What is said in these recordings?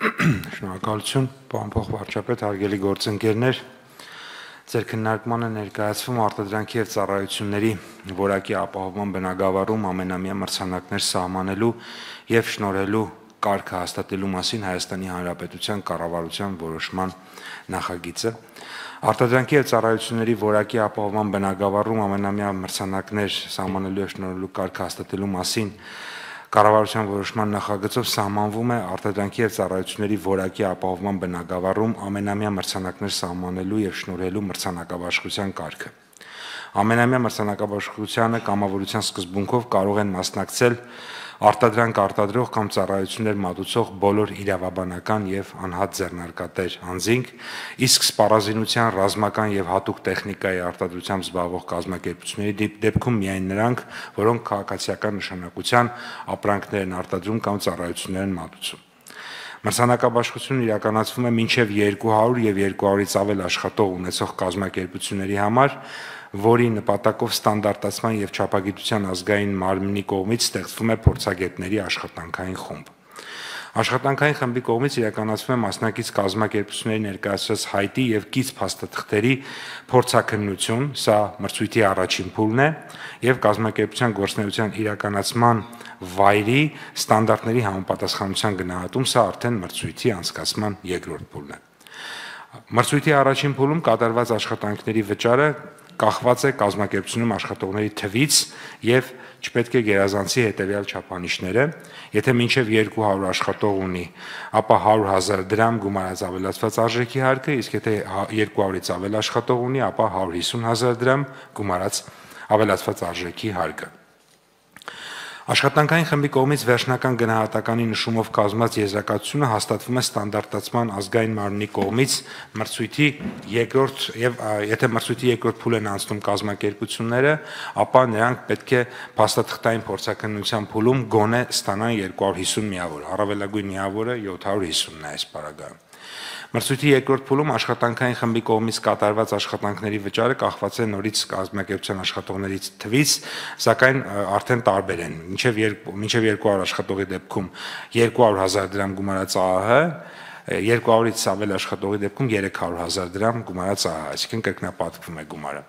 Շնորհակալություն, պարոն փոխվարչապետ, հարգելի գործընկերներ, ձեր քննարկմանը ներկայացվում արտադրանքի եւ ծառայությունների որակի ապահովման բնագավառում ամենամյա մրցանակներ սահմանելու եւ շնորհելու կարգը հաստատելու մասին Հայաստանի Հանրապետության կառավարության որոշման նախագիծը արտադրանքի եւ ծառայությունների որակի ապահովման բնագավառում ամենամյա մրցանակներ սահմանելու եւ շնորհելու կարգը հաստատելու մասին Կառավարության որոշման նախագծով սահմանվում է արտադրանքի եւ ծառայությունների որակի ապահովման բնագավառում ամենամյա մրցանակներ սահմանելու եւ շնորհելու մրցանակաբաշխության կարգը։ Ամենամյա մրցանակաբաշխությանը կամավորության սկզբունքով կարող են մասնակցել արտադրանք արտադրող կամ ծառայություններ մատուցող բոլոր իրավաբանական եւ անհատ ձեռնարկատեր անձինք, իսկ սպառազինության ռազմական եւ հատուկ տեխնիկայի արտադրությամբ զբաղվող կազմակերպությունների դեպքում միայն նրանք, որոնք քաղաքացիական նշանակության ապրանքներ են արտադրում կամ ծառայություններ են մատուցում։ Մրցանակաբաշխությունն իրականացվում է մինչև 200 եւ 200-ից ավել աշխատող ունեցող կազմակերպությունների համար, որի նպատակով ստանդարտացման եւ չափագիտության ազգային մարմնի կողմից ստեղծվում է փորձագետների աշխատանքային խումբ։ Աշխատանքային խմբի կողմից իրականացվում է մասնակից կազմակերպությունների ներկայացրած հայտի եւ կից փաստաթղթերի փորձաքննություն, սա մրցույթի առաջին փուլն է, եւ կազմակերպության գործունեության իրականացման վայրի ստանդարտների համապատասխանության գնահատում, սա արդեն մրցույթի անցկացման երկրորդ փուլն է։ Մրցույթի առաջին փուլում կատարված աշխատանքների վճարը կախված է կազմակերպությունում աշխատողների թվից եւ չպետք է գերազանցի հետեւյալ չափանիշները, եթե մինչև 200 աշխատող ունի, ապա 100,000 դրամ գումարած ավելացված արժեքի հարկը, իսկ եթե 200-ից ավել աշխատող ունի, ապա 150,000 դրամ գումարած ավելացված արժեքի հարկը։ Աշխատանքային խմբի կողմից վերջնական գնահատականի նշումով կազմված եզրակացությունը հաստատվում է ստանդարտացման ազգային մարմնի կողմից մրցույթի երկրորդ եւ եթե մրցույթի երկրորդ փուլ են անցնում կազմակերպությունները, ապա նրանք պետք է փաստաթղթային փորձաքննության փուլում գոնե ստանան 250 միավոր, առավելագույն միավորը 750-ն է այս պարագայում։ Մրցույթի երկրորդ փուլում աշխատանքային խմբի կողմից կատարված աշխատանքների վճարը կախված է նորից կազմակերպության աշխատողների թվից, սակայն արդեն տարբեր են։ Մինչև 200 աշխատողի դեպքում 200,000 դրամ գումարած ԱԱՀ, 200-ից ավել աշխատողի դեպքում 300,000 դրամ գումարած ԱԱՀ, այսինքն կրկնապատկվում է գումարը։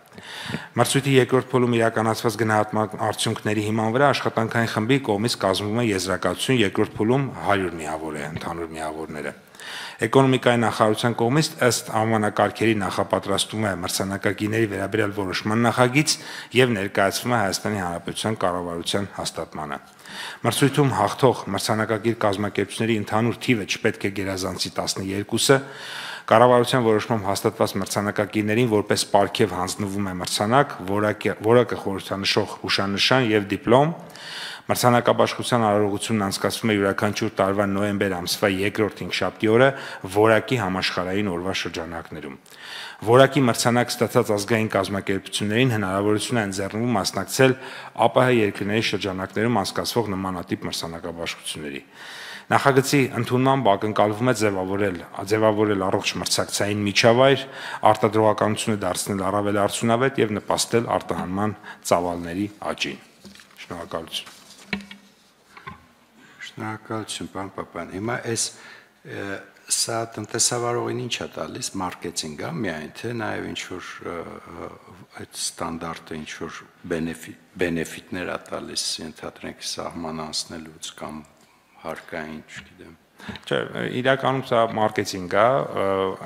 Մրցույթի երկրորդ փուլում իրականացված գնահատման արդյունքների հիման վրա աշխատանքային խմբի կողմից կազմվում է եզրակացություն, երկրորդ փուլում 100 միավոր է ընդհանուր միավորները։ Էկոնոմիկայի նախարարության կողմից ըստ անվանակարգերի նախապատրաստվում է մրցանակակիրների վերաբերյալ որոշման նախագիծ եւ ներկայացվում է Հայաստանի Հանրապետության կառավարության հաստատմանը։ Մրցույթում հաղթող մրցանակակիր կազմակերպությունների ընդհանուր թիվը չպետք է գերազանցի 12-ը, կառավարության որոշմամբ հաստատված մրցանակակիրներին որպես պարգև հանձնվում է մրցանակ, որակը խորհրդանշող հուշանշան եւ դիպլոմ։ Մրցանակաբաշխության արարողությունն անցկացվում է յուրաքանչյուր տարվա նոյեմբեր ամսվա երկրորդ հինգշաբթի օրը որակի համաշխարհային օրվա շրջանակներում։ Որակի մրցանակ ստացած ազգային կազմակերպություններին հնարավորություն է ընձեռնվում մասնակցել ԱՊՀ երկրների շրջանակներում անցկացվող նմանատիպ մրցանակաբաշխությունների։ Նախագծի ընդունմամբ ակնկալվում է ձևավորել առողջ մրցակցային միջավայր, արտադրողականությունը դարձնել առավել արդյունավետ եւ նպաստել արտահանման ծավալների աճին։ Շնորհակալություն։ Շնորհակալություն, պարոն Պապյան։ Հիմա սա տնտեսավարողին ինչ է տալիս, մարքեթինգ է միայն, թե նաև ինչ-որ այդ ստանդարտը ինչ-որ բենեֆիտներ է տալիս, ենթադրենք սահման անցնելուց կամ հարկային, չգիտեմ։ Չէ, իրականում սա մարքեթինգ է,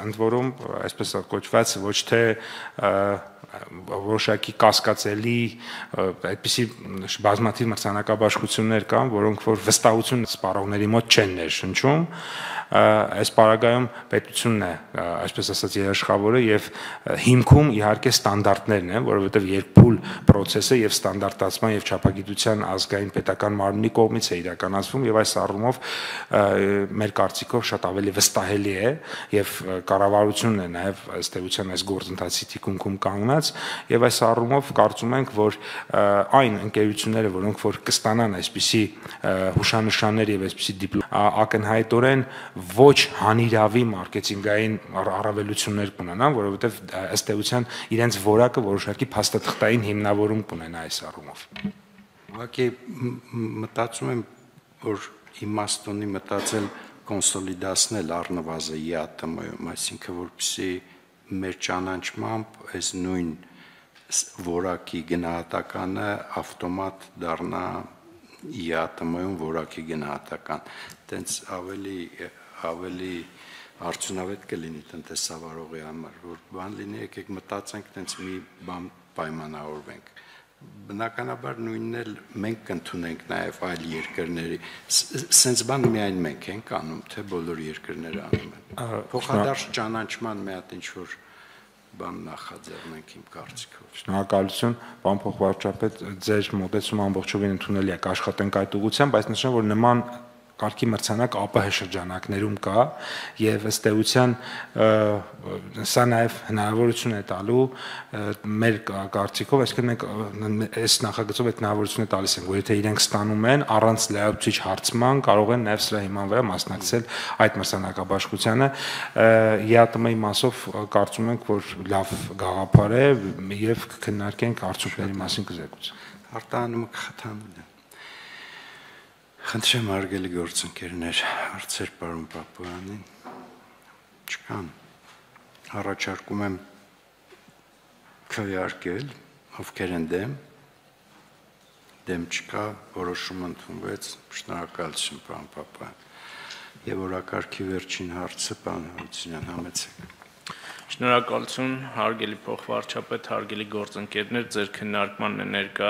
ընդ որում, այսպես կոչված, ոչ թե որոշակի կասկածելի այդպիսի բազմաթիվ մրցանակաբաշխություններ կան, որոնք որ վստահություն սպառողների մոտ չեն ներշնչում, այս պարագայում պետությունն է, այսպես ասած, երաշխավորը եւ հիմքում իհարկե ստանդարտներն են, որովհետեւ երկփուլ process-ը եւ ստանդարտացման եւ չափագիտության ազգային պետական մարմնի կողմից է իրականացվում եւ այս առումով մեր կարծիքով շատ ավելի վստահելի է եւ կառավարությունն է նաեւ ըստ էության այս գործընթացի թիկունքում կանգնած եւ այս առումով կարծում ենք, որ այն ընկերությունները, որոնք որ կստանան այսպիսի հուշանշաններ եւ այսպիսի դիպլոմ ակնհայտորեն ոչ հանիրավի մարքեթինգային առավելություններ կունենան, որովհետև ըստ էության իրենց որակը որոշակի փաստաթղթային հիմնավորում կունենա այս առումով։ Ուղղակի մտածում եմ, որ իմաստ ունի մտածել կոնսոլիդացնել առնվազն ԵԱՏՄ-ում, այսինքն որպեսզի մեր ճանաչմամբ այս նույն որակի գնահատականը ավտոմատ դառնա ԵԱՏՄ-ում որակի գնահատական, տենց ավելի արդյունավետ կլինի տնտեսավարողի համար, որ բան լինի, եկեք մտածենք, տենց մի բան պայմանավորվենք։ Բնականաբար նույնն էլ մենք կընդունենք նաև այլ երկրների, սենց բան միայն մենք ենք անում, թե բոլոր երկրները անում են։ Փոխադարձ ճանաչման մի հատ ինչ-որ բան նախաձեռնենք իմ կարծիքով։ Շնորհակալություն, պարոն փոխվարչապետ, ձեր մոտեցումը ամբողջովին ընդունելի է, կաշխատենք այդ ուղղությամբ, բայց նշեմ, որ նման կարգի մրցանակ ԱՊՀ շրջանակներում կա եւ ըստ էության սա նաեւ հնարավորություն է տալու մեր կարծիքով, այսինքն մենք այս նախագծով այդ հնարավորությունը տալիս ենք, որ եթե իրենք ստանում են առանց լայացուցիչ հարցման կարող են նաեւ սրա հիման վրա մասնակցել այդ մրցանակաբաշխությանը ԵԱՏՄ-ի մասով կարծում ենք, որ լավ գաղափար է եւ կքննարկենք արդյունքների մասին կզեկուցենք։ Արտահանումը կխթանվի։ Խնդրեմ հարգելի գործընկերներ, հարցեր պարոն Պապոյանին չկան, առաջարկում եմ քվեարկել, ովքեր են դեմ չկա, որոշումը ընդունվեց, շնորհակալություն պարոն Պապոյան, եւ օրակարգի վերջին հարցը պարոն Հարությունյան, համեցեք։ Շնորհակալություն, հարգելի փոխվարչապետ, հարգելի գործընկերներ, ձեր քննարկման ներկա